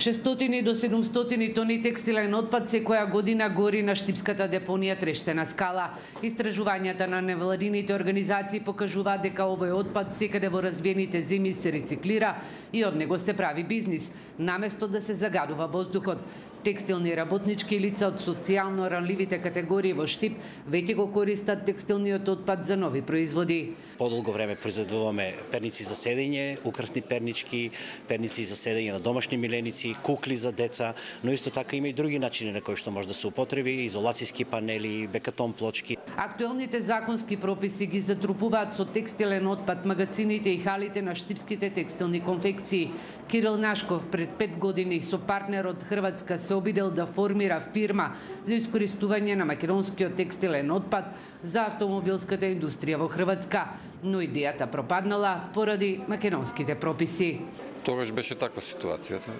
600 до 700 тони текстилен отпад секоја година гори на штипската депонија Трештена скала. Истражувањата на невладините организации покажуваат дека овој отпад секаде во развиените земји се рециклира и од него се прави бизнис, наместо да се загадува воздухот. Текстилни работнички лица од социјално ранливите категории во Штип веќе го користат текстилниот отпад за нови производи. Подолго време произведуваме перници за седење, украсни пернички, перници за седење на домашни миленици, кукли за деца, но исто така има и други начини на кои што може да се употреби, изолацијски панели, бекатон плочки. Актуелните законски прописи ги затрупуваат со текстилен отпад магазините и халите на штипските текстилни конфекции. Кирил Нашков пред 5 години со партнер од Хрватска се обидел да формира фирма за искористување на македонскиот текстилен отпад за автомобилската индустрија во Хрватска, но идејата пропаднала поради македонските прописи. Тогаш беше таква ситуацијата.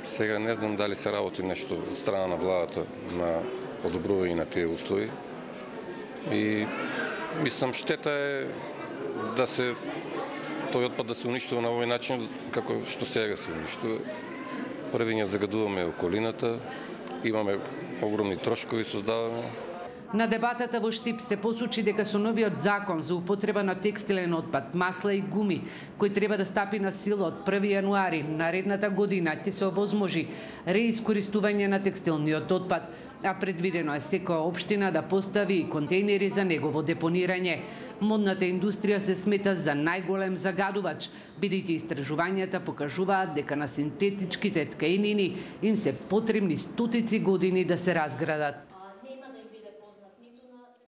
Сега не знам дали се работи нешто од страна на владата на подобрување на тие услови. И мислам штета е да се тој отпад да се уништува на овој начин како што сега се уништува. Први ја загадуваме околината, имаме огромни трошкови создаваме. На дебатата во Штип се посочи дека со новиот закон за употреба на текстилен отпад, масла и гуми, кој треба да стапи на сила од 1 јануари наредната година, ќе се овозможи реискористување на текстилниот отпад, а предвидено е секоја општина да постави контејнери за негово депонирање. Модната индустрија се смета за најголем загадувач, бидејќи истражувањата покажуваат дека на синтетичките ткаенини им се потребни стотици години да се разградат.